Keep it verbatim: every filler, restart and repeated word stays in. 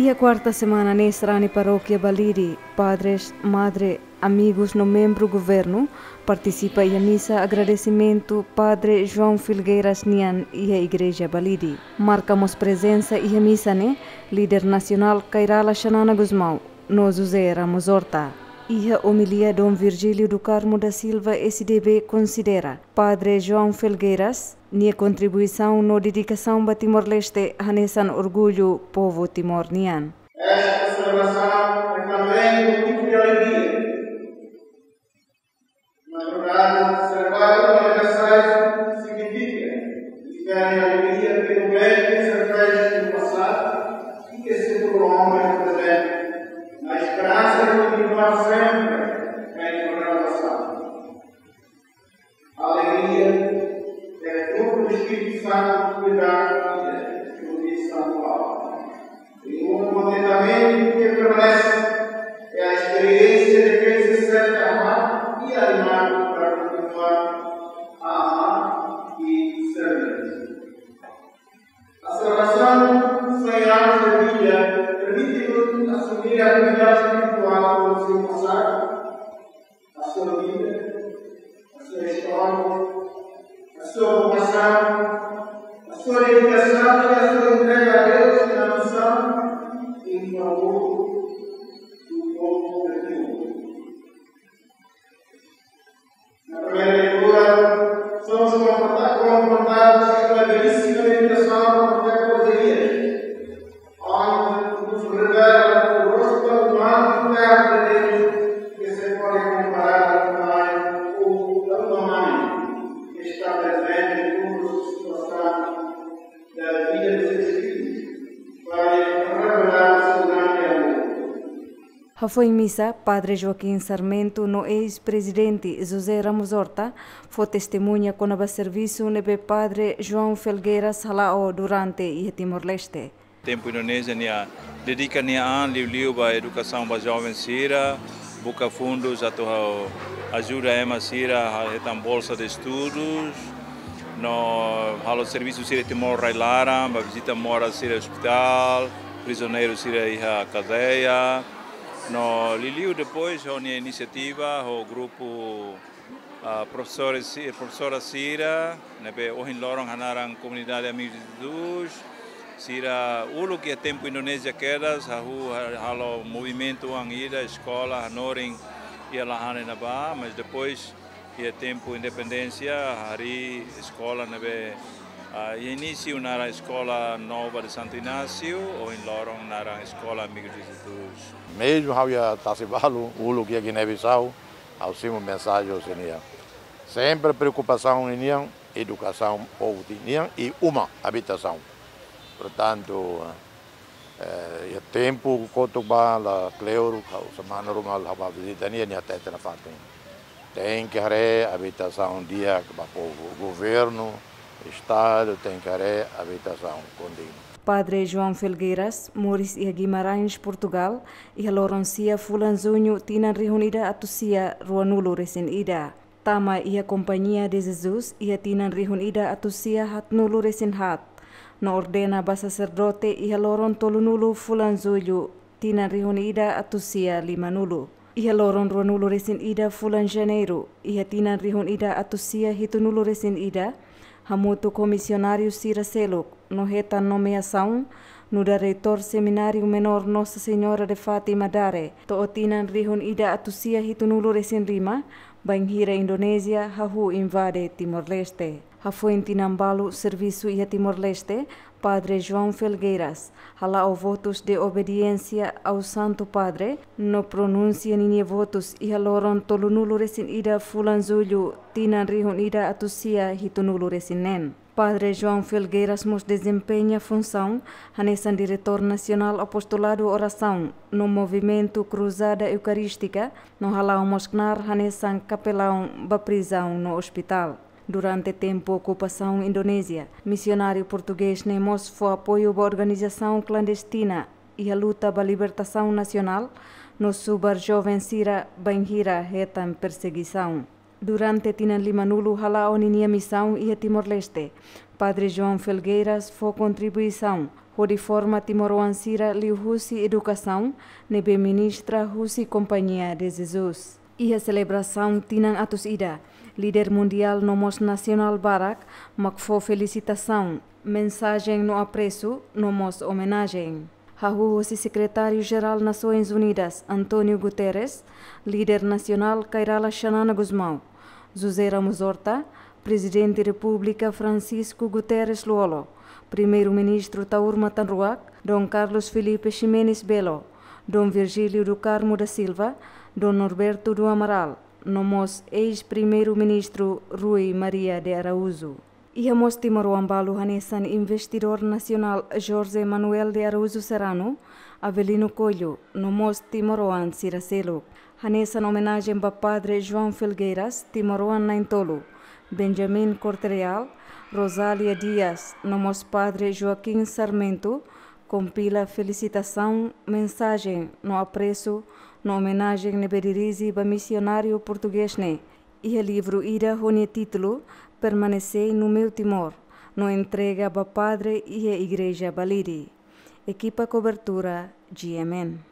Iha kuarta semana ne'e sarani parókia Balide, padres, madre, amigus no membru governu partisipa iha misa agradesimentu Padre João Felgueiras nian iha Igreja Balide. Marka mós prezensa iha misa ne'e líder nasionál Kay Rala Xanana Gusmão no José Ramos Horta. Iha omilia Dom Virgílio do Carmo da Silva, S D B, konsidera Padre João Felgueiras nia kontribuisaun no dedikasaun ba Timor-Leste hanesan orgullu povu Timor nian. Esta celebração é também motivo de alegria. Na verdade, celebrar uma aniversário significa viver a alegria pelo bem que se fez no passado e que se prolonga no presente, na esperança de continuar sempre em renovação. A alegria é fruto do Espírito Santo que dá vida, como diz São Paulo. E um contentamento que permanece é a experiência de quem se sente amado e animado para continuar a amar e servir. A celebração de cem anos de vida permite-nos assumir a vida espiritual do seu passado, a sua vida, a sua história, a sua vocação, a sua dedicação e a sua entrega a Deus na missão em favor do povo de Deus. Na primeira leitura, somos confronta-, confrontados com a belíssima meditação do profeta Ozeías, onde nos revela o rosto humano e terra de Deus, que se pode comparar ao pai ou a uma mãe, que está presente em todas as situações da vida de seus filhos, para revelar o seu grande amor. Hafoin misa, Padre Joaquim Sarmento no eis-prezidente José Ramos Horta fó testemuña kona-ba servisu ne'ebé Padre João Felgueiras hala'o durante iha Timor-Leste. Tempu Indonézia nia dedika nia an liuliu ba edukasaun ba joven sira, buka fundus atu ha-, ajuda ema sira ha-, hetan bolsa de estudus, no halo servisu sira iha Timor rai-laran, ba vizita moras sira ospitál, prizioneiru sira iha kadeia, no liuliu depois ho nia inisiativa, ho grupu ah, profesores si-, profesora sira, ne'ebé ohin loron hanaran Komunidade Amigos de Jesus, sira uluk iha tempu Indonézia kedas, hahú ha-, halo movimentu oan ida, eskola, hanorin iha lahan ne'ebá, mas depois iha tempu independénsia, harii eskola ne'ebé, ah, iha inísiu naran Escola Nova de Santo Inácio, ohin loron naran Escola Amigos de Jesus. Mezmu ha'u iha tasi balu, uluk iha Guiné-Bissau, ha'u simu mensajen sira-nian. Sempre preokupasaun ninian edukasaun povu sira-nian i uma, abitasaun. Portantu, eh, iha tempu kotuk ba la kleur, ha'u semana ruma ha'u bá vizita nia, nia hatete nafatin. Tenke haree abitasaun di'ak ba povu. Governu, Estadu tenke haree abitasaun kondignu. Padre João Felgueiras moris iha Guimarães, Portugal, iha loron sia fulan Juñu tinan rihun ida atus sia ruanulu resin ida. Tama iha Companhia de Jesus iha tinan rihun ida atus sia haatnulu resin haat. No ordena ba saserdote iha loron tolunulu fulan Jullu tinan rihun ida atus sia limanulu. Iha loron ruanulu resin ida fulan Janeiru, iha tinan rihun ida atus sia hitunulu resin ida, hamutuk ho misionáriu sira seluk, no hetan nomeasaun nu'udar reitór Semináriu Menór Nossa Senhora de Fátima Dare, to'o tinan rihun ida atus sia hitunulu resin lima, bainhira Indonézia hahú invade Timor-Leste. Hafoin tinan balu servisu iha Timor-Leste, Padre João Felgueiras hala'o votus de obediência ao Santo Padre, no pronunsia ninia votus iha loron tolunulu resin ida fulan Jullu tinan rihun ida atus sia hitunulu resin neen. Padre João Felgueiras mós dezempeña funsaun hanesan Diretór Nasionál Apostoladu Orasaun no Movimentu Kruzada Eukarístika, no hala'o mós knaar hanesan kapelaun ba prizaun no ospitál. Durante tempu okupasaun Indonézia, misionáriu portugés ne'e mós fó apoiu ba organizasaun klandestina iha luta ba libertasaun nasionál, no subar joven sira bainhira hetan persegisaun. Durante tinan limanulu hala'o ninia misaun iha Timor-Leste, Padre João Felgueiras fó kontribuisaun hodi forma timoroan sira liuhusi edukasaun ne'ebé ministra husi Companhia de Jesus. Iha selebrasaun tinan atus ida, líder mundiál no mós nasionál barak mak fó felisitasaun, mensajen no apresu no mós omenajen. Hahú hosi Sekretáriu-Jerál Nasoins Unidas, António Guterres, líder nasionál Kay Rala Xanana Gusmão, José Ramos Horta, Prezidente Repúblika Francisco Guterres Lú-Olo, Primeiru-Ministru Taur Matan Ruak, Dom Carlos Filipe Ximenes Belo, Dom Virgílio do Carmo da Silva, Dom Norberto do Amaral, no mós eis-Primeiru-Ministru Rui Maria de Araújo. Iha mós timoroan balu hanesan Investidór Nasionál José Manuel de Araújo Serrano, Avelino Coelho, no mós timoroan sira seluk. Hanesan omenajen ba Padre João Felgueiras, timoroan na'in-tolu, Benjamin Corte-Real, Rosália Dias, no mós Padre Joaquim Sarmento, kompila felisitasaun, mensajen no apresu no omenajen ne'ebé dirije ba misionáriu portugés ne'e iha livru ida ho nia títulu Permanecei no Meu Timor, no entrega ba padre iha Igreja Balide. Ekipa kobertura, G M N.